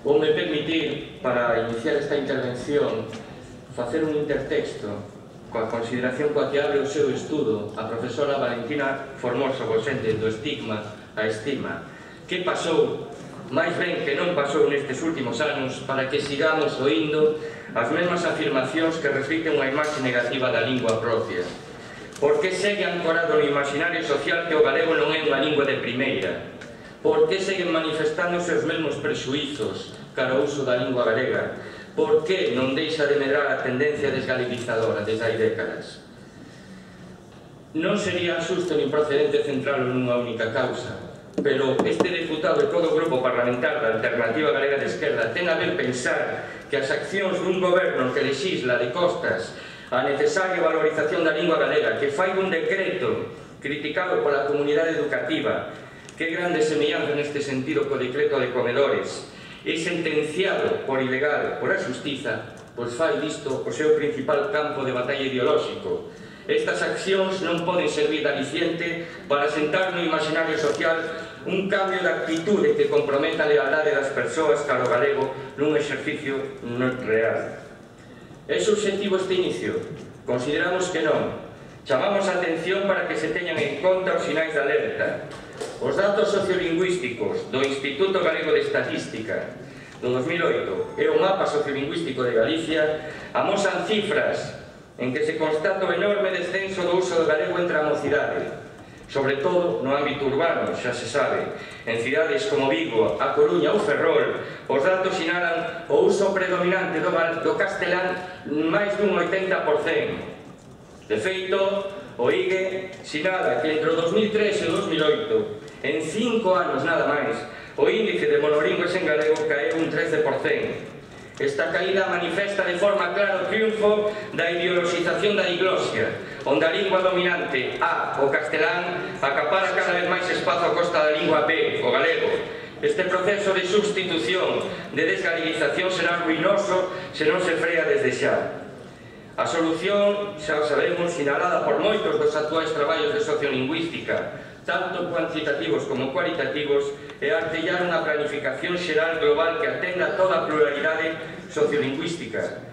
Vou me permitir, para iniciar esta intervención, facer un intertexto coa consideración coa que abre o seu estudo a profesora Valentina Formoso Gosende do estigma a estima. Que pasou, máis ben que non pasou nestes últimos anos, para que sigamos oindo as mesmas afirmacións que reflicten unha imaxe negativa da lingua propia? Por que segue ancorado no imaginario social que o galego non é unha lingua de primeira? Por que seguen manifestándose os mesmos prexuízos cara ao uso da lingua galega? Por que non deixa de medrar a tendencia desgalegizadora desde hai décadas? Non sería xusto nin procedente centralo nunha única causa, pero este deputado e todo o grupo parlamentar da Alternativa Galega de Esquerda ten a ver pensar que as accións dun goberno que lexisla de costas a necesaria valorización da lingua galega, que fai un decreto criticado pola comunidade educativa, que grande semellanza neste sentido co decreto de comedores, e sentenciado por ilegal pola xustiza, pois fai disto o seu principal campo de batalla ideolóxico. Estas accións non poden servir de aliciente para sentar no imaginario social un cambio de actitude que comprometa a lealdade das persoas cara ao galego nun exercicio real. É subxectivo este inicio? Consideramos que non. Chamamos a atención para que se teñan en conta os sinais de alerta. Os datos sociolingüísticos do Instituto Galego de Estatística do 2008 e o mapa sociolingüístico de Galicia amosan cifras en que se constata o enorme descenso do uso do galego entre a mocidade, sobre todo no ámbito urbano, xa se sabe. En cidades como Vigo, A Coruña ou Ferrol, os datos sinalan o uso predominante do castelán máis dun 80%. De feito, o IGE sinala que entre o 2003 e o 2008, en 5 anos nada máis, o índice de monolingües en galego caeu un 13%. Esta caída manifesta de forma clara o triunfo da ideoloxización da diglosia, onde a lingua dominante A, o castelán, acapara cada vez máis espazo a costa da lingua B, o galego. Este proceso de substitución, de desgaleguización, será ruinoso se non se frea desde xa. A solución, xa o sabemos, sinalada por moitos dos actuais traballos de sociolingüística, tanto cuantitativos como cualitativos, é artellar unha planificación xeral global que atenda toda a pluralidade sociolingüística.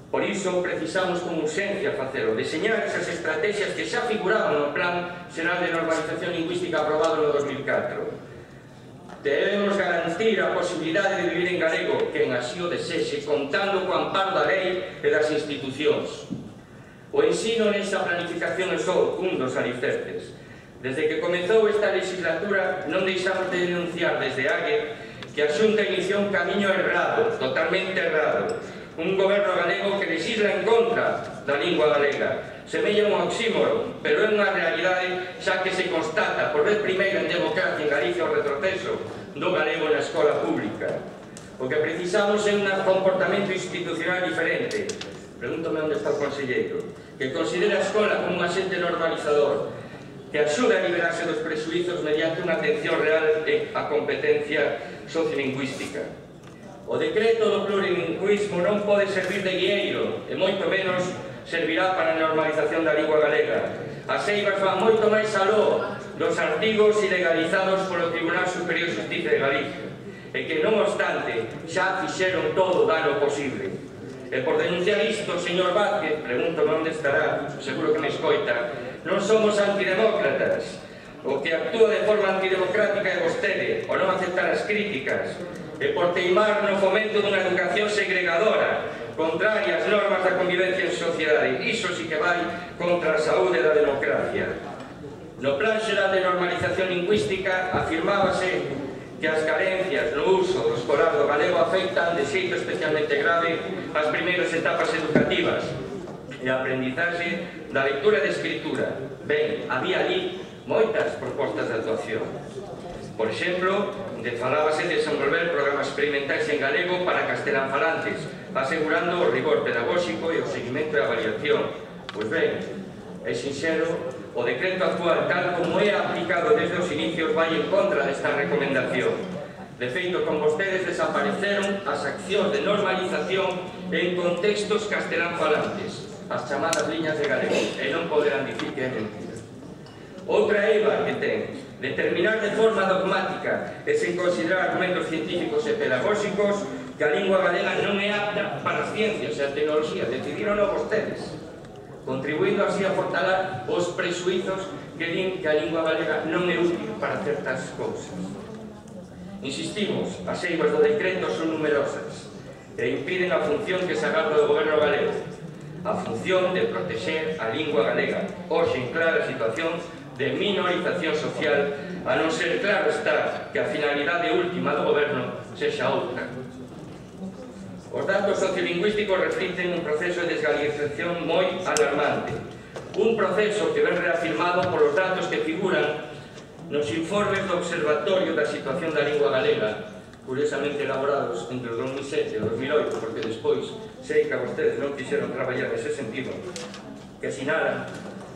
Por iso, precisamos con urxencia facelo, deseñar esas estrategias que xa figuraban no Plan Xeral de Normalización Lingüística aprobado no 2004. Debemos garantir a posibilidade de vivir en galego, quen así o desexe, contando co amparo da lei e das institucións. O ensino nesa planificación é só un dos alicerces. Desde que comezou esta legislatura non deixamos de denunciar desde AGE que a Xunta iniciou un camiño errado, totalmente errado. Un goberno galego que legisla en contra da lingua galega. Semella un oxímoro, pero é unha realidade xa que se constata por vez primeira en democracia en Galicia o retroceso do galego na escola pública. O que precisamos é un comportamento institucional diferente. Pregúntome onde está o conselleiro, que considera a escola como un axente normalizador, que axude a liberarse dos presuizos mediante unha atención real á competencia sociolingüística. O decreto do plurilingüismo non pode servir de guieiro, e moito menos servirá para a normalización da lingua galega. As eivas van moito máis aló dos artigos ilegalizados polo Tribunal Superior de Justicia de Galicia, e que, non obstante, xa fixeron todo o dano posible. E por denunciar isto, señor Vázquez, pregúntome onde estará, seguro que me escoita, non somos antidemócratas. O que actúa de forma antidemocrática é vostede, o non aceptar as críticas, e por teimar no fomento dunha educación segregadora, contraria ás normas da convivencia en sociedade. Iso sí que vai contra a saúde da democracia. No Plan Xeral de Normalización Lingüística afirmábase que as carencias no uso do escolar do galego afectan de xeito especialmente grave as primeiras etapas educativas e a aprendizaxe da lectura e da escritura. Ben, había ali moitas propostas de actuación. Por exemplo, falábase de desenvolver programas experimentais en galego para castelanfalantes, asegurando o rigor pedagóxico e o seguimento e a avaliación. Pois ben, é sinxelo, o decreto actual, tal como é aplicado desde os inicios, vai en contra desta recomendación. De feito, con vostedes desapareceron as accións de normalización en contextos castelanfalantes, as chamadas liñas de galego, e non poderán dicir que é mentira. Outra eiva que ten, determinar de forma dogmática e sen considerar argumentos científicos e pedagóxicos que a lingua galega non é apta para as ciencias e a tecnoloxía, decidironlo vostedes, contribuindo así a fortalar os presuizos que din que a lingua galega non é útil para certas cousas. Insistimos, as eivas do decreto son numerosas e impiden a función que se agarda do goberno galego, a función de protexer a lingua galega, hoxe en clara situación de minorización social, a non ser claro está que a finalidade última do goberno sexa outra. Os datos sociolingüísticos reflicten un proceso de desgalización moi alarmante, un proceso que ven reafirmado polos datos que figuran nos informes do Observatorio da Situación da Lingua Galega, curiosamente elaborados entre o 2007 e o 2008, porque despois sei que a vostedes non quixeron traballar nese sentido, que sinalan,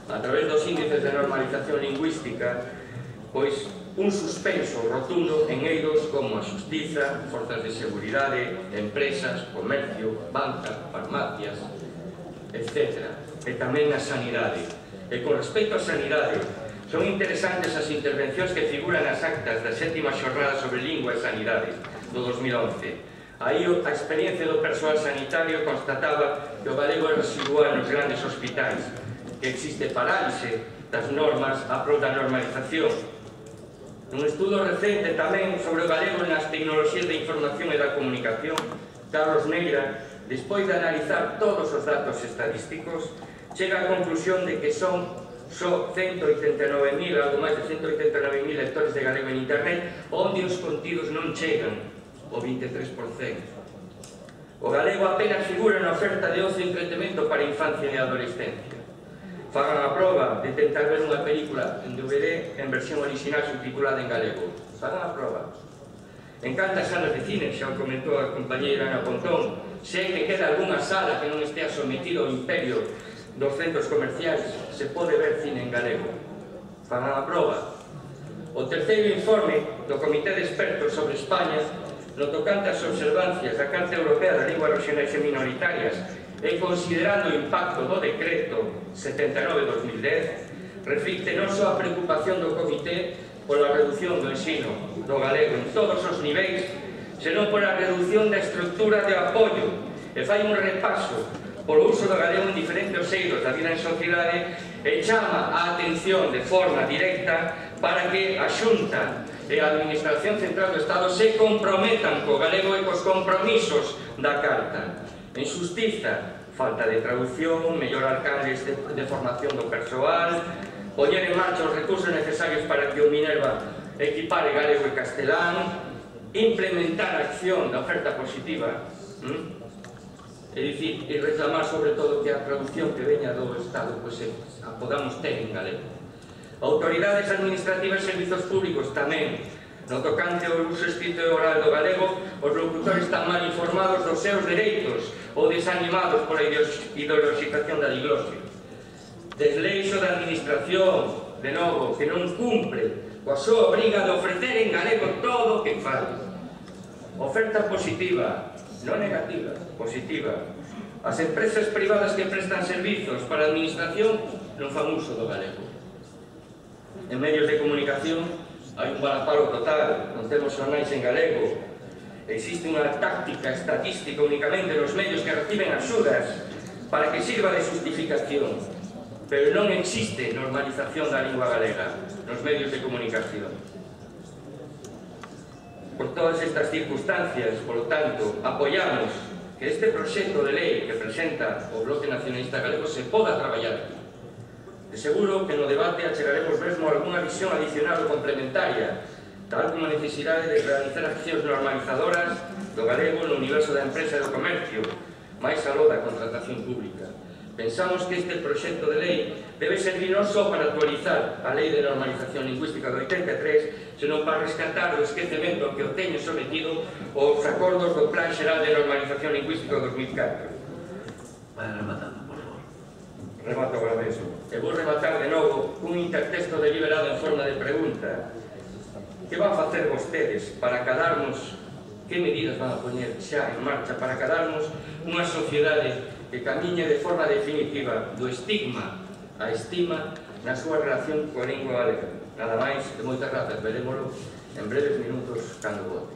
a través dos índices de normalización lingüística, pois un suspenso rotundo en eidos como a xustiza, forzas de seguridade, empresas, comercio, banca, farmacias, etc. E tamén a sanidade. E con respecto á sanidade, son interesantes as intervencións que figuran nas actas da 7ª xornada sobre lingua e sanidade do 2011. Aí a experiencia do persoal sanitario constataba que o galego é residual nos grandes hospitais, que existe parálise das normas a prol da normalización. Un estudo recente tamén sobre o galego nas tecnoloxías de información e da comunicación, Carlos Neira, despois de analizar todos os datos estadísticos, chega á conclusión de que son só 189.000, algo máis de 189.000 lectores de galego en internet, onde os contidos non chegan o 23%. O galego apenas figura na oferta de ocio e entretemento para infancia e adolescencia. Fagan a proba de tentar ver unha película en DVD en versión original subtitulada en galego. Fagan a proba. En cantas salas de cine, xa o comentou a compañeira Ana Pontón, sei que queda algunha sala que non estea sometido ao imperio dos centros comerciais, se pode ver cine en galego. Fagan a proba. O terceiro informe do Comité de Expertos sobre España, no tocante ás observancias da Carta Europea das Linguas Regionais e Minoritarias e considerando o impacto do decreto 79/2010, reflicte non só a preocupación do Comité pola reducción do ensino do galego en todos os niveis, senón pola reducción da estructura de apoio e fai un repaso polo uso do galego en diferentes eidos da vida en sociedade e chama a atención de forma directa para que a Xunta e a Administración Central do Estado se comprometan co galego e cos compromisos da Carta. En xustiza, falta de traducción, mellorar canles de formación do persoal, poñer en marcha os recursos necesarios para que o Minerva equipare galego e castelán, implementar a acción da oferta positiva, é dicir, e reclamar sobre todo que a traducción que veña do Estado a podamos ter en galego. Autoridades administrativas e servizos públicos tamén. No tocante ao uso escrito e oral do galego, os locutores están mal informados dos seus dereitos ou desanimados pola ideoloxización da diglosia. Desleixo da administración, de novo, que non cumpre coa súa obriga de ofrecer en galego todo o que fai. Oferta positiva, non negativa, positiva. As empresas privadas que prestan servizos para a administración non fan uso do galego. En medios de comunicación hai un varapalo total, non temos xornais en galego. Existe unha táctica estatística únicamente nos medios que reciben axudas para que sirva de justificación, pero non existe normalización da lingua galega nos medios de comunicación. Por todas estas circunstancias, por lo tanto, apoiamos que este proxecto de lei que presenta o Bloque Nacionalista Galego se poda traballar aquí. De seguro que no debate achegaremos mesmo algunha visión adicional ou complementaria, tal como a necesidade de realizar accións normalizadoras do galego no universo da empresa e do comercio, máis aló da contratación pública. Pensamos que este proxecto de lei debe servir non só para actualizar a Lei de Normalización Lingüística do 83, senón para rescatar o esquecemento que o teñen sometido os acordos do Plan Xeral de Normalización Lingüística do 2004. Vai rematando, por favor. Remato agora mesmo. E vou rematar de novo cun intertexto deliberado en forma de pregunta. Que van facer vostedes para acadarnos, que medidas van a poñer xa en marcha para acadarnos unha sociedade que camiñe de forma definitiva do estigma a estima na súa relación coa lingua galega. Nada máis e moitas grazas, verémolo en breves minutos cando vote.